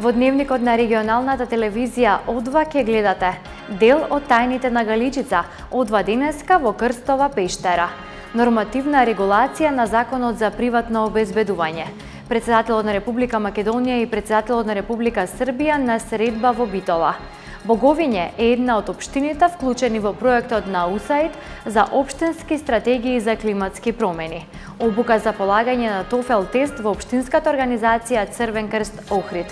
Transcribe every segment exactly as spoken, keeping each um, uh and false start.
Во дневникот на регионалната телевизија О два ќе гледате дел од тајните на Галичица, О два денеска во Крстова пештера. Нормативна регулација на Законот за приватно обезбедување. Председателот на Република Македонија и председателот на Република Србија на средба во Битола. Боговиње е една од општините вклучени во проектот на У С А И Д за општински стратегии за климатски промени. Обука за полагање на тофел тест во општинската организација Црвен крст Охрид.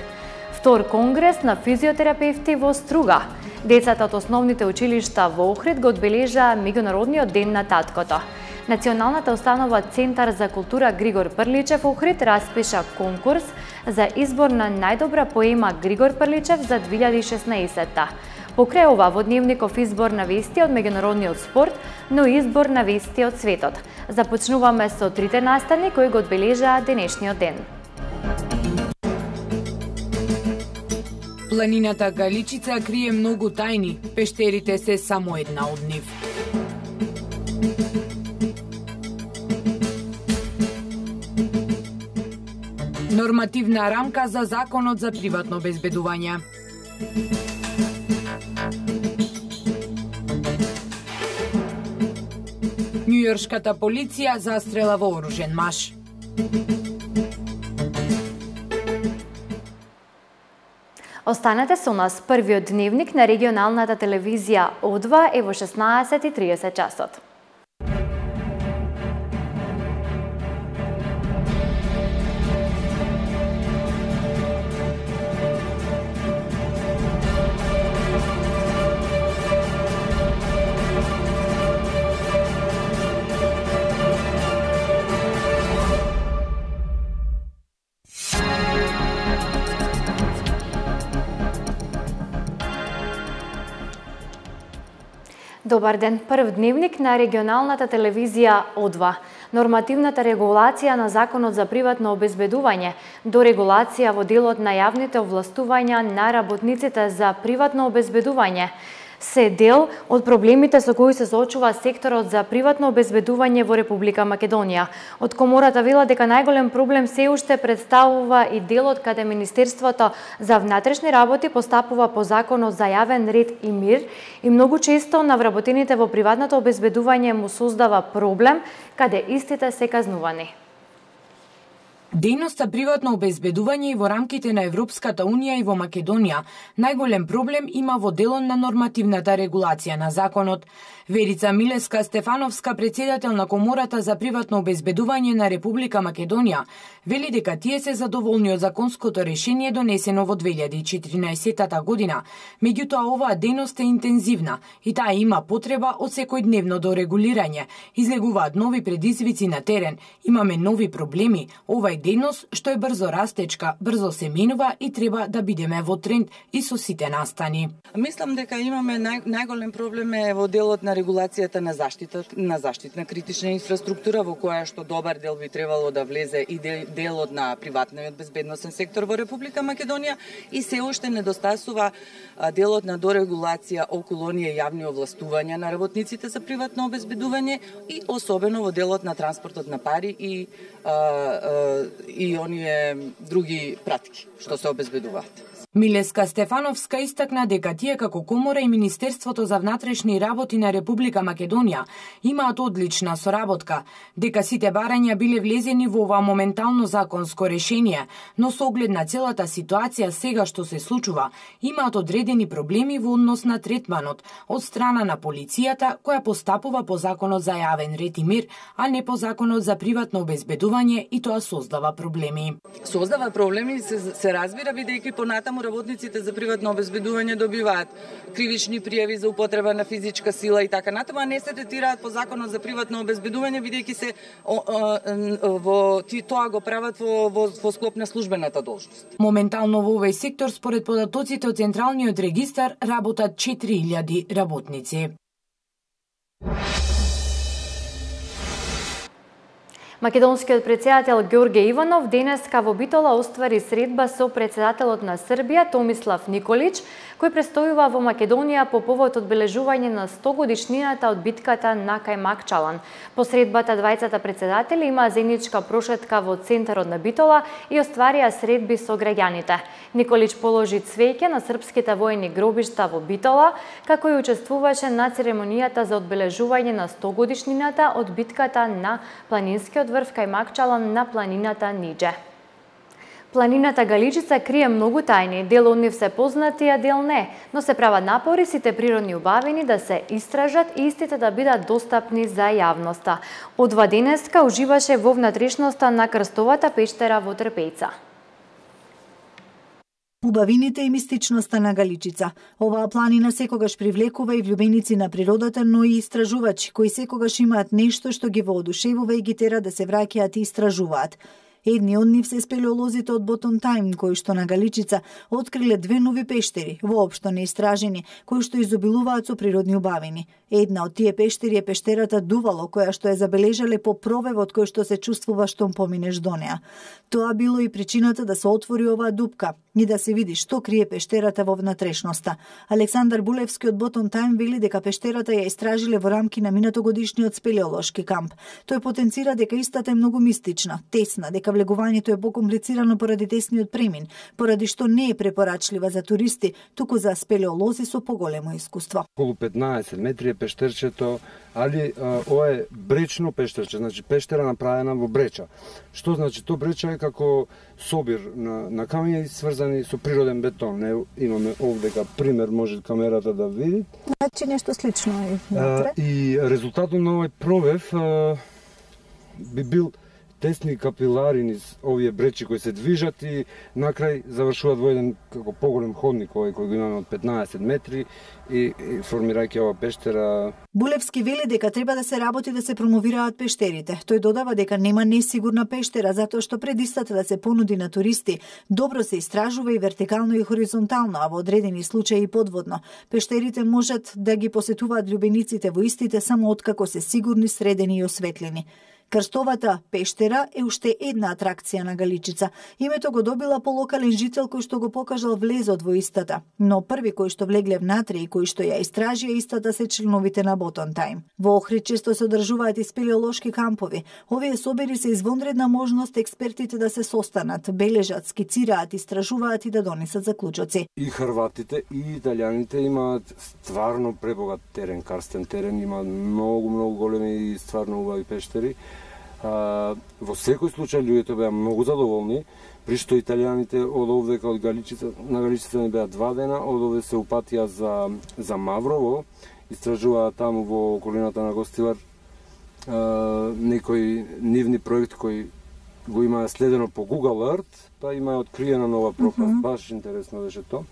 Втор конгрес на физиотерапевти во Струга. Децата од основните училишта во Охрид го одбележаа меѓународниот ден на таткото. Националната установа Центар за култура Григор Прличев Охрид распиша конкурс за избор на најдобра поема Григор Прличев за две илјади и шеснаесетта. Покрај ова во дневников избор на вести од меѓународниот спорт, но избор на вести од светот. Започнуваме со трите настани кои го одбележаа денешниот ден. Планината Галичица крие многу тајни, пештерите се само една од нив. Нормативна рамка за Законот за приватно обезбедување. Њујоршката полиција застрела вооружен маж. Останете со нас, првиот дневник на регионалната телевизија О два е во шеснаесет и тридесет часот. Добар ден, прв дневник на регионалната телевизија О два. Нормативната регулација на Законот за приватно обезбедување до регулација во делот на јавните овластувања на работниците за приватно обезбедување се дел од проблемите со кои се соочува секторот за приватно обезбедување во Република Македонија. Од Комората вела дека најголем проблем се уште представува и делот каде Министерството за внатрешни работи постапува по Законот за јавен ред и мир и многу често на вработените во приватното обезбедување му создава проблем каде истите се казнувани. Дејноста приватно обезбедување и во рамките на Европската Унија и во Македонија најголем проблем има во делот на нормативната регулација на законот. Верица Милеска-Стефановска, председател на Комората за приватно обезбедување на Република Македонија, вели дека тие се задоволни од законското решение донесено во две илјади и четиринаесетта година. Меѓутоа оваа дејност е интензивна и таа има потреба од секојдневно до регулирање. Излегуваат нови предизвици на терен, имаме нови проблеми. Ова дејност што е брзо растечка, брзо се менува и треба да бидеме во тренд и со сите настани. Мислам дека имаме нај, најголем проблем е во делот на регулацијата на заштита на заштитна критична инфраструктура, во која што добар дел би требало да влезе и делот на приватниот безбедносен сектор во Република Македонија и се уште недостасува делот на дорегулација околу оние јавни овластувања на работниците за приватно обезбедување и особено во делот на транспортот на пари и а, а, и оние други пратки што се обезбедуваат. Милеска Стефановска истакна дека тие како Комора и Министерството за внатрешни работи на Република Македонија имаат одлична соработка, дека сите барања биле влезени во ова моментално законско решение, но со оглед на целата ситуација сега што се случува, имаат одредени проблеми во однос на третманот од страна на полицијата која постапува по Законот за јавен ред и мир, а не по Законот за приватно обезбедување и тоа создава проблеми. Создава проблеми, се, се разбира, бидејќи понатаму работниците за приватно обезбедување добиваат кривични пријави за употреба на физичка сила и така натаму, а не се третираат по Законот за приватно обезбедување, бидејќи се о, о, во ти тоа го прават во, во, во склоп на службената должност. Моментално во овој сектор според податоците од Централниот регистар работат четири илјади работници. Македонскиот претседател Ѓорѓе Иванов денеска во Битола оствари средба со претседателот на Србија Томислав Николич, кој престојува во Македонија по повод одбележување на сто годишнината од битката на Кајмакчалан. По средбата двајцата претседатели имаа заедничка прошетка во центарот на Битола и остварија средби со граѓаните. Николич положи цвеќе на српските воени гробишта во Битола, како и учествуваше на церемонијата за одбележување на сто годишнината од битката на планинскиот врв Кајмакчалан на планината Нидже. Планината Галичица крие многу тајни, дел од нив се познати, а дел не, но се прават напори сите природни убавини да се истражат и истите да бидат достапни за јавноста. Одва денеска уживаше во внатрешноста на крстовата пештера во Трпејца. Убавините и мистичноста на Галичица. Оваа планина секогаш привлекува и влюбеници на природата, но и истражувачи, кои секогаш имаат нешто што ги воодушевува и ги тера да се враќаат и истражуваат. Едни од нив се спелеолозите од Ботон Тајм, кои што на Галичица откриле две нови пештери, воопшто неистражени, кои што изобилуваат со природни убавини. Една од тие пештери е пештерата Дувало, која што е забележале по провевот кој што се чувствува штом поминеш до неа. Тоа било и причината да се отвори оваа дупка и да се види што крие пештерата во внатрешноста. Александар Булевски од Ботон Тајм вели дека пештерата ја истражиле во рамки на минатогодишниот спелеолошки камп. Тој потенцира дека истата е многу мистична, тесна, дека влегувањето е покомплицирано поради тесниот премин, поради што не е препорачлива за туристи, туку за спелеолози со поголемо искуство. Околу петнаесет метри е пештерчето, али а, ова е бречно пештерче, значи пештера направена во бреча. Што значи то бреча е како собир на, на камења сврзани со природен бетон. Не имаме овдека пример, може камерата да види. Значи нешто слично е внатре. И резултатот на овој провев а, би бил тесни капилари низ овие бречи кои се движат и накрај завршуваат во еден како поголем ходник овој кој го имаме од петнаесет метри и, и формирајќи ова пештера. Булевски вели дека треба да се работи да се промовираат пештерите. Тој додава дека нема несигурна пештера затоа што пред истата да се понуди на туристи, добро се истражува и вертикално и хоризонтално, а во одредени случаи и подводно. Пештерите можат да ги посетуваат љубениците во истите само откако се сигурни, средени и осветлени. Крстовата пештера е уште една атракција на Галичица. Името го добила по локален жител кој што го покажал влезот во истата, но први кој што влегле внатре и кој што ја истражија истата се членовите на Ботон Тајм. Во Охрид често се одржуваат и спелеолошки кампови. Овие собери се извонредна можност експертите да се состанат, бележат, скицираат, истражуваат и да донесат заклучоци. И хрватите и италијаните имаат стварно пребогат терен, карстен терен, имаат многу многу големи и стварно убави пештери. А, во секој случај луѓето беа многу задоволни, при што италијаните од овдека од Галичица, на Галичица не беа два дена, од овде се упатија за, за Маврово, истражуваа таму во околината на Гостивар а, некои нивни проекти кои го имаа следено по Google Earth, па имаа откриена нова пропаст, mm -hmm. баш интересно беше тоа.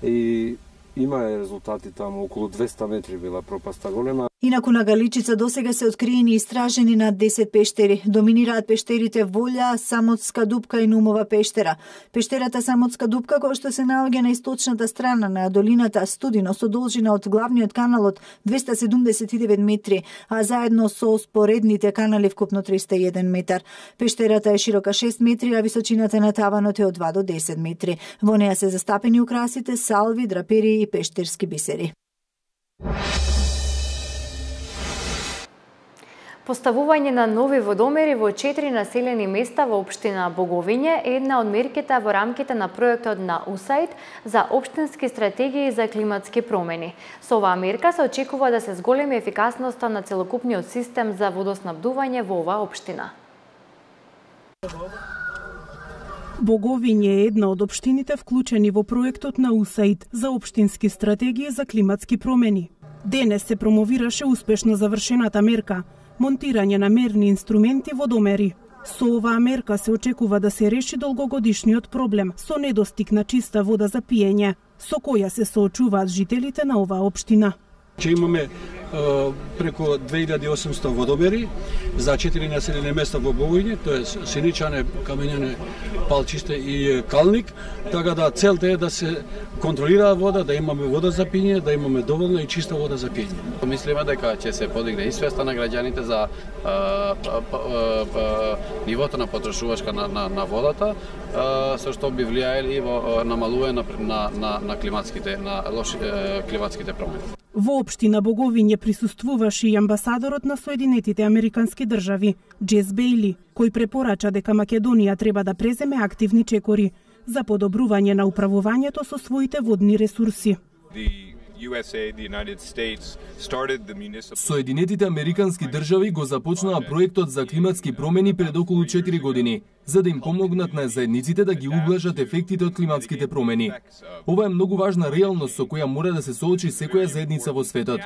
И има резултати таму, околу двеста метри била пропаста голема. Инаку на Галичица досега се откриени и истражени над десет пештери. Доминираат пештерите Волја, Самотска дупка и Нумова пештера. Пештерата Самотска дупка, која што се наоѓа на источната страна на долината Студино со должина од главниот каналот двеста седумдесет и девет метри, а заедно со споредните канали вкупно триста и еден метар. Пештерата е широка шест метри, а височината на таванот е од два до десет метри. Во неа се застапени украсите, салви, драпери и пештерски бисери. Поставување на нови водомери во четири населени места во општина Боговиње е една од мерките во рамките на проектот на ю ес ей ай ди за општински стратегии за климатски промени. Со оваа мерка се очекува да се зголеми ефикасноста на целокупниот систем за водоснабдување во оваа општина. Боговиње е една од општините вклучени во проектот на ю ес ей ай ди за општински стратегии за климатски промени. Денес се промовираше успешно завршената мерка монтирање на мерни инструменти водомери. Со оваа мерка се очекува да се реши долгогодишниот проблем со недостиг на чиста вода за пиење, со која се соочуваат жителите на оваа општина. Че имаме преку две илјади и осумсто водомери за четири населени места во Богојне, тоа е Синичане, Камењане, Палчиште и Калник, така да целта е да се контролира вода, да имаме вода за пиње, да имаме доволно и чиста вода за пиње. Мислиме дека ќе се подигне и свеста на граѓаните за а, а, а, а, нивото на потрошувачка на, на, на водата, а, со што би влијаели и во намалување на, на, на, на климатските на лоши климатските промени. Во општина Боговиње присуствуваше и амбасадорот на Соединетите Американски држави, Джес Бејли, кој препорача дека Македонија треба да преземе активни чекори за подобрување на управувањето со своите водни ресурси. Соединетите Американски држави го започнаа проектот за климатски промени пред околу четири години, за да им помогнат на заедниците да ги ублажат ефектите од климатските промени. Ова е многу важна реалност со која мора да се соочи секоја заедница во светот.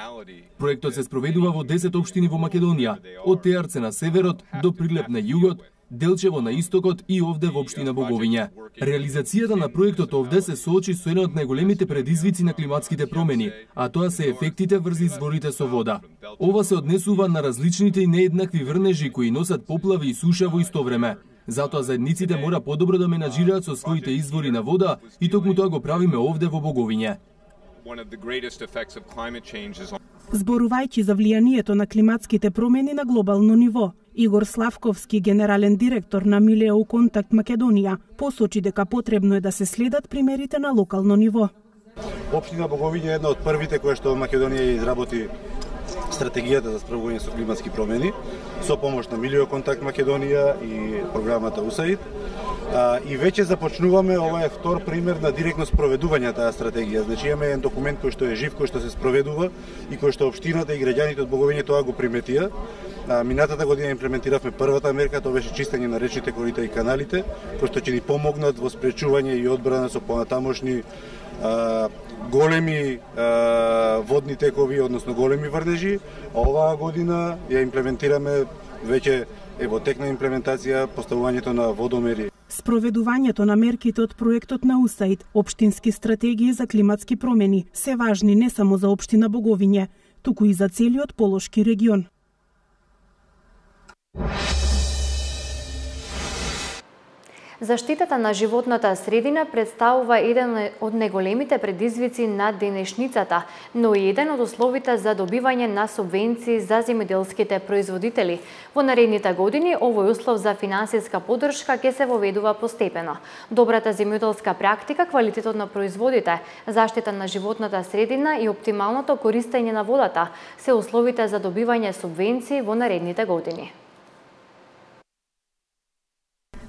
Проектот се спроведува во десет општини во Македонија, од Теарце на северот до Прилеп на југот, Делчево на истокот и овде во општина Боговиње. Реализацијата на проектот овде се соочи со еден од најголемите предизвици на климатските промени, а тоа се ефектите врз изворите со вода. Ова се однесува на различните и нееднакви врнежи кои носат поплави и суша во исто време. Затоа заедниците мора подобро да менаџираат со своите извори на вода и токму тоа го правиме овде во Боговиње. Зборувајќи за влијанието на климатските промени на глобално ниво, Игор Славковски, генерален директор на Милео Контакт Македонија, посочи дека потребно е да се следат примерите на локално ниво. Општина Боговиње е една од првите која што Македонија изработи стратегијата за справување со климатски промени со помош на Милео Контакт Македонија и програмата УСАИД. И веќе започнуваме, ова е втор пример на директно спроведување таа стратегија. Значи имаме еден документ кој што е жив, кој што се спроведува и кој што општината и граѓаните од Боговиње тоа го приметија. Минатата година имплементиравме првата мерка, тоа беше чистење на речните корита и каналите, кои што ќе ни помогнат во спречување и одбрана со понатамошни а, големи а, водни текови, односно големи врнежи. А оваа година ја имплементираме веќе е во тек на имплементација поставувањето на водомери. Спроведувањето на мерките од проектот на УСАИД, општински стратегии за климатски промени, се важни не само за општина Боговиње, туку и за целиот Полошки регион. Заштитата на животната средина представува еден од најголемите предизвици на денешницата, но и еден од условите за добивање на субвенции за земјоделските производители. Во наредните години овој услов за финансиска поддршка ќе се воведува постепено. Добрата земјоделска практика, квалитетот на производите, заштита на животната средина и оптималното користење на водата се условите за добивање субвенции во наредните години.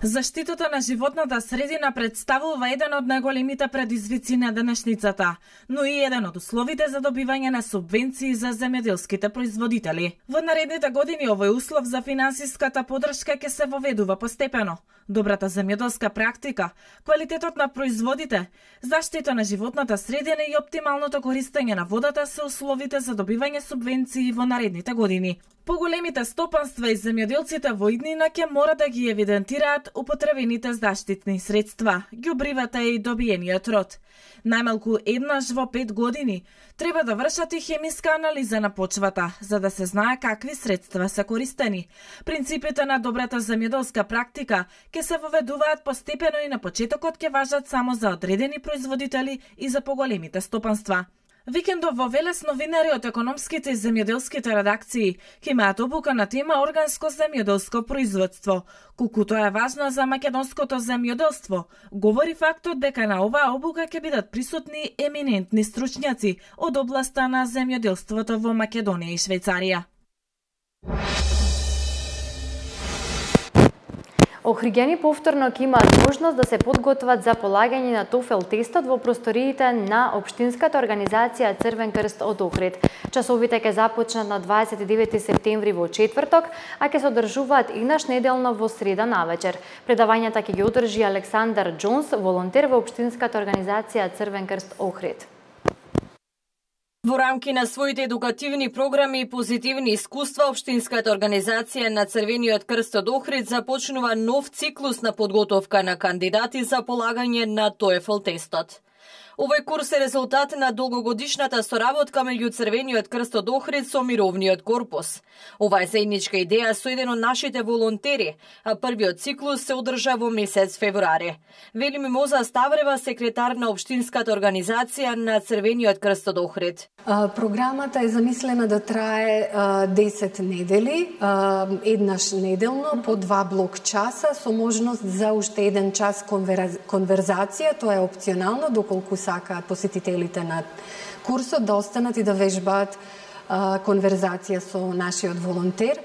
Заштитата на животната средина представува еден од најголемите предизвици на денешницата, но и еден од условите за добивање на субвенции за земјоделските производители. Во наредните години овој услов за финансиската поддршка ќе се воведува постепено. Добрата земјоделска практика, квалитетот на производите, заштита на животната средина и оптималното користење на водата се условите за добивање субвенции во наредните години. Поголемите стопанства и земјоделците во иднина ќе мора да ги евидентираат употребените заштитни средства, ѓубривата и добиениот род. Најмалку еднаш во пет години треба да вршат и хемиска анализа на почвата, за да се знае какви средства се користени. Принципите на добрата земјоделска практика ќе се воведуваат постепено и на почетокот ќе важат само за одредени производители и за поголемите стопанства. Викендов во Велес новинари од економските и земјоделските редакции ќе имаат обука на тема органско земјоделско производство, колку тоа е важно за македонското земјоделство. Говори фактот дека на оваа обука ќе бидат присутни еминентни стручњаци од областа на земјоделството во Македонија и Швајцарија. Охриѓани повторно ќе имаат можност да се подготват за полагање на тофел тестот во просториите на Општинската организација Црвен крст од Охрид. Часовите ќе започнат на дваесет и девети септември во четврток, а ќе се одржуваат инаш неделно во среда навечер. Предавањата ќе ги одржи Александар Џонс, волонтер во Општинската организација Црвен крст Охрид. Во рамки на своите едукативни програми и позитивни искуства, Општинската организација на Црвениот крст од Охрид започнува нов циклус на подготовка на кандидати за полагање на тоефл тестот. Овој курс е резултат на долгогодишната соработка меѓу Црвениот крст од Охрид со Мировниот корпус. Ова е заедничка идеја со еден од нашите волонтери, а првиот циклус се одржа во месец февруари. Вели Мимоза Ставрева, секретар на општинската организација на Црвениот крст од Охрид. Програмата е замислена да трае десет недели, еднаш неделно по два блок часа со можност за уште еден час конверзација. Тоа е опционално доколку сакаат посетителите на курсот да останат и да вежбаат конверзација со нашиот волонтер.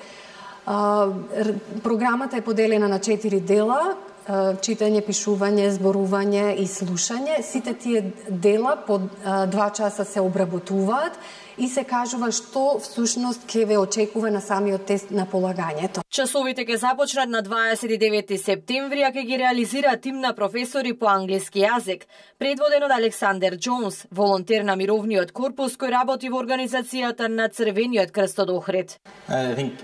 Програмата е поделена на четири дела: читање, пишување, зборување и слушање. Сите тие дела по два часа се обработуваат и се кажува што всушност ќе ве очекува на самиот тест на полагањето. Часовите ќе започнат на дваесет и девети септември, а ќе ги реализира тим на професори по англиски јазик, предводен од Александер Джонс, волонтер на Мировниот корпус кој работи во организацијата на Црвениот крст од Охрид.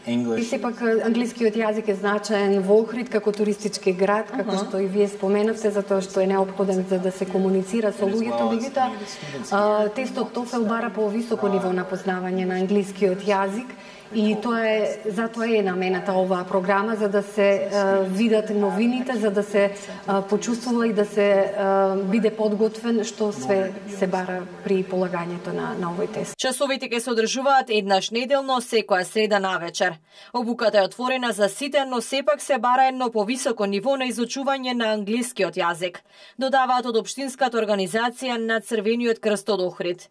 И сепак англискиот јазик е значаен во Охрид како туристички град, како uh-huh. што и вие споменавте, затоа што е неопходен за да се комуницира со луѓето. Меѓутоа, тестот TOEFL бара по високо ниво на познавање на англискиот јазик и тоа е затоа е намената оваа програма, за да се uh, видат новините, за да се uh, почувствува и да се uh, биде подготвен што све се бара при полагањето на, на овој тест. Часовите ќе се одржуваат еднаш неделно секоја среда навечер. Обуката е отворена за сите, но сепак се бара едно повисоко ниво на изучување на англискиот јазик, додаваат од општинската организација на Црвениот крст од Охрид.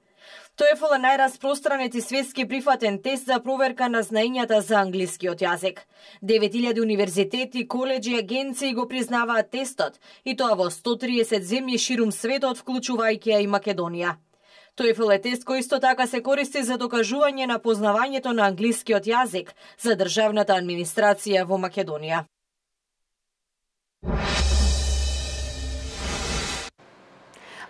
TOEFL е најраспространет и светски прифатен тест за проверка на знаењата за англискиот јазик. девет илјади универзитети, коледжи и агенции го признаваат тестот, и тоа во сто триесет земји ширум светот, вклучувајќи ја и Македонија. TOEFL е тест кој исто така се користи за докажување на познавањето на англискиот јазик за државната администрација во Македонија.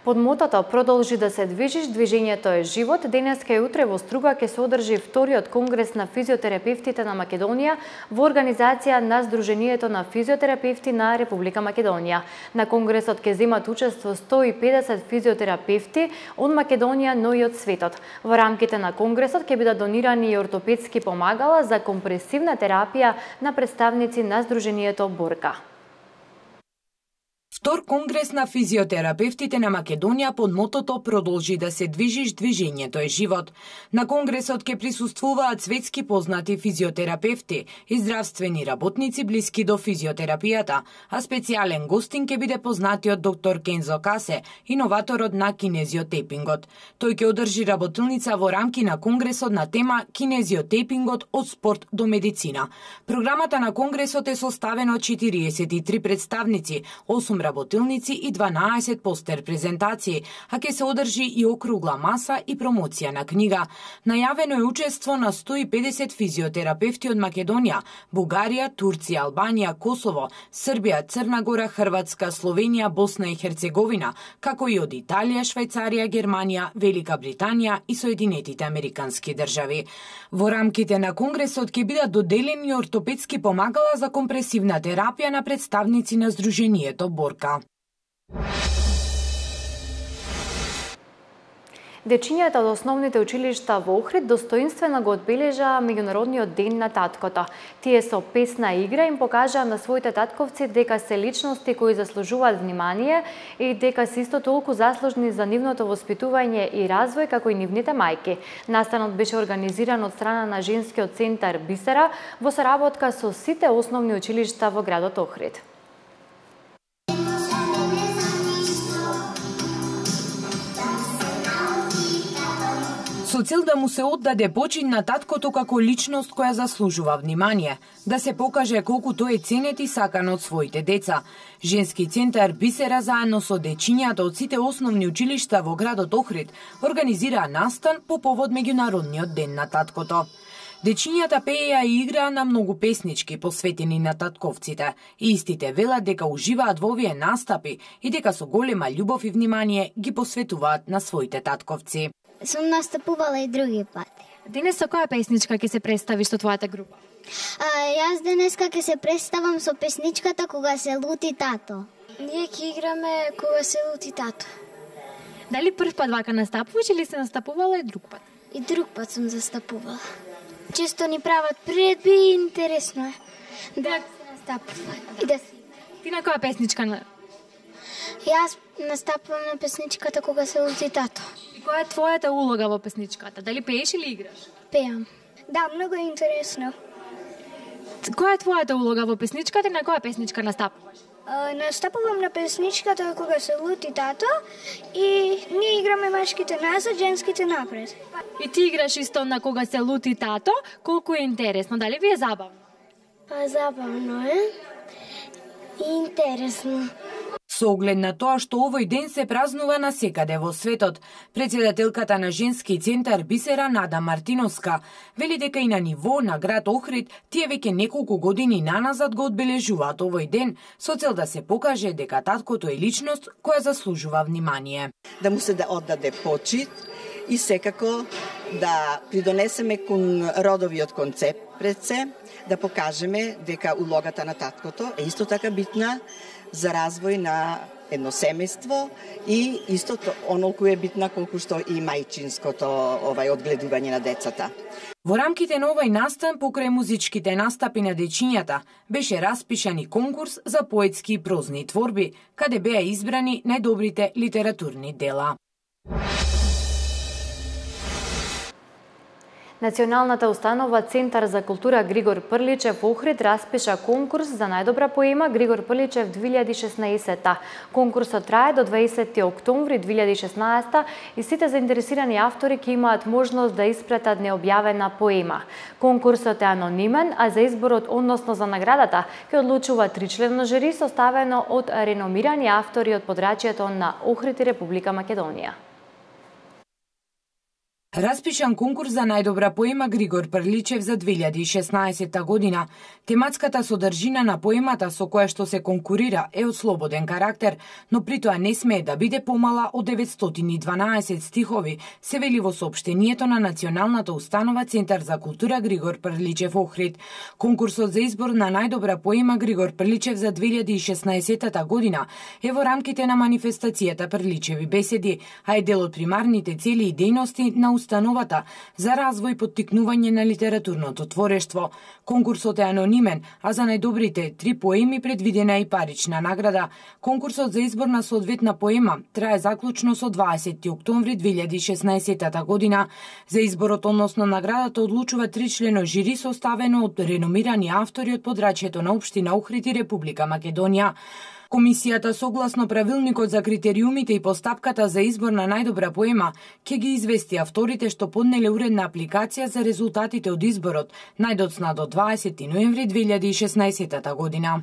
Под мотото "Продолжи да се движиш, движењето е живот", денеска и утре во Струга ќе се одржи вториот конгрес на физиотерапевтите на Македонија во организација на Сдруженијето на физиотерапевти на Република Македонија. На конгресот ќе земат учество сто и педесет физиотерапевти од Македонија, но и од светот. Во рамките на конгресот ќе бидат донирани и ортопедски помагала за компресивна терапија на представници на Сдруженијето Борка. Втор конгрес на физиотерапевтите на Македонија под мотото "Продолжи да се движиш, движењето е живот". На конгресот ќе присуствуваат светски познати физиотерапевти и здравствени работници блиски до физиотерапијата, а специјален гостин ќе биде познатиот доктор Кензо Касе, иноваторот на кинезиотепингот. Тој ќе одржи работилница во рамки на конгресот на тема "Кинезиотепингот од спорт до медицина". Програмата на конгресот е составена од четириесет и три представници, осум работилници и дванаесет постер презентации, а ќе се одржи и округла маса и промоција на книга. Најавено е учество на сто и педесет физиотерапевти од Македонија, Бугарија, Турција, Албанија, Косово, Србија, Црна Гора, Хрватска, Словенија, Босна и Херцеговина, како и од Италија, Швајцарија, Германија, Велика Британија и Соединетите Американски држави. Во рамките на конгресот ќе бидат доделени ортопедски помагала за компресивна терапија на представници на Сдруженијето Борка. Дечињата од основните училишта во Охрид достоинствено го одбележаа меѓународниот ден на таткото. Тие со песна игра им покажаа на своите татковци дека се личности кои заслужуваат внимание и дека се исто толку заслужни за нивното воспитување и развој како и нивните мајки. Настанот беше организиран од страна на Женскиот центар Бисера во соработка со сите основни училишта во градот Охрид. Со цел да му се оддаде почин на таткото како личност која заслужува внимание, да се покаже колку тој е ценет и сакан од своите деца. Женски центар Бисера заедно со дечињата од сите основни училишта во градот Охрид организираа настан по повод меѓународниот ден на таткото. Дечињата пееа и играа на многу песнички посветени на татковците и истите велат дека уживаат во овие настапи и дека со голема љубов и внимание ги посветуваат на своите татковци. Сум настапувала и други пати. Денес со која песничка ќе се представиш со твојата група? А, јас денеска ќе се представам со песничката Кога се лути тато. Ние ќе играме Кога се лути тато. Дали прв пат вака настапуваш или се настапувала и друг пат? И друг пат сум застапувала. Често ни прават приредби и интересно е да се настапува. И да... Ти на која песничка на... Јас настапувам на песничката Кога се лути тато. И која е твојата улога во песничката? Дали пееш или играш? Пеам. Да, многу е интересно. Која е твојата улога во песничката и на која песничка настапуваш? Uh, настапувам на песничката Кога се лути тато и ние играме мажките назад, женските напред. И ти играш исто на Кога се лути тато, колку е интересно, дали ви е забавно? Па забавно е и интересно. Со оглед на тоа што овој ден се празнува насекаде во светот, председателката на Женски центар Бисера Нада Мартиновска вели дека и на ниво на град Охрид тие веќе неколку години наназад го одбележуваат овој ден со цел да се покаже дека таткото е личност која заслужува внимание. Да му се да оддаде почит и секако да придонесеме кон родовиот концепт пред се, да покажеме дека улогата на таткото е исто така битна за развој на едно семејство и истото онолку е битна колку што и мајчинското овај одгледување на децата. Во рамките на овој настан покрај музичките настапи на дечињата беше распишан и конкурс за поетски и прозни творби, каде беа избрани најдобрите литературни дела. Националната установа Центар за култура Григор Прличев во Охрид распиша конкурс за најдобра поема Григор Прличев две илјади и шеснаесета. Конкурсот трае до дваесети октомври две илјади и шеснаесета и сите заинтересирани автори ќе имаат можност да испратат необјавена поема. Конкурсот е анонимен, а за изборот, односно за наградата, ќе одлучува тричленно жури составено од реномирани автори од подрачјето на Охрид и Република Македонија. Распишан конкурс за најдобра поема Григор Прличев за две илјади и шеснаесета година. Тематската содржина на поемата со која што се конкурира е од слободен карактер, но при тоа не смее да биде помала од деветстотини и дванаесет стихови, се вели во соопштението на Националната установа Центар за култура Григор Прличев Охрид. Конкурсот за избор на најдобра поема Григор Прличев за две илјади и шеснаесета година е во рамките на манифестацијата Прличеви беседи, а е дел од примарните цели и дејности на установата за развој и поттикнување на литературното творештво. Конкурсот е анонимен, а за најдобрите три поеми предвидена и парична награда. Конкурсот за избор на соодветна поема трае заклучно со дваесети октомври две илјади и шеснаесета година. За изборот, односно наградата, одлучува тричлено жири составено од реномирани автори од подрачјето на општина Охрид и Република Македонија. Комисијата, согласно правилникот за критериумите и постапката за избор на најдобра поема, ќе ги извести авторите што поднеле уредна апликација за резултатите од изборот, најдоцна до дваесети ноември две илјади и шеснаесета година.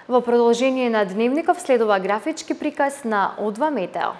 Во продолжение на дневников следува графички приказ на О два Метео.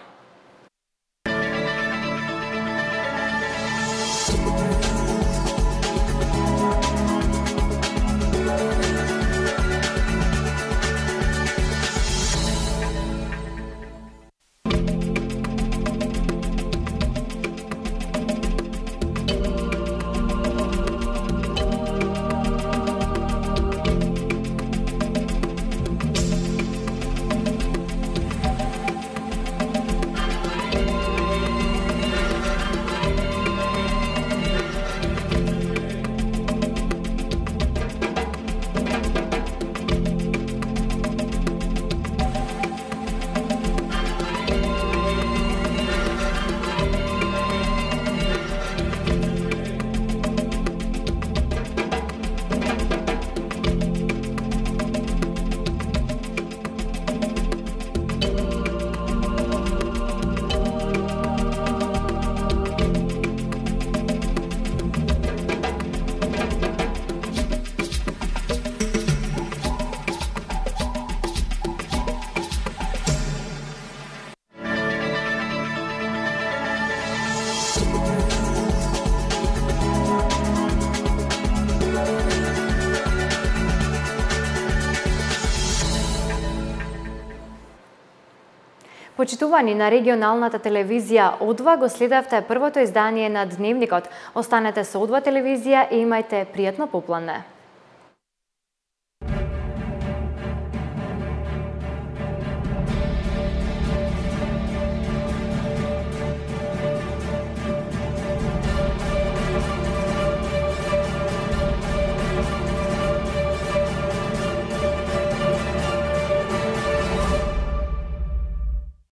Почитувани на регионалната телевизија О два, го следевте првото издание на Дневникот. Останете со О два телевизија и имајте пријатно поплане.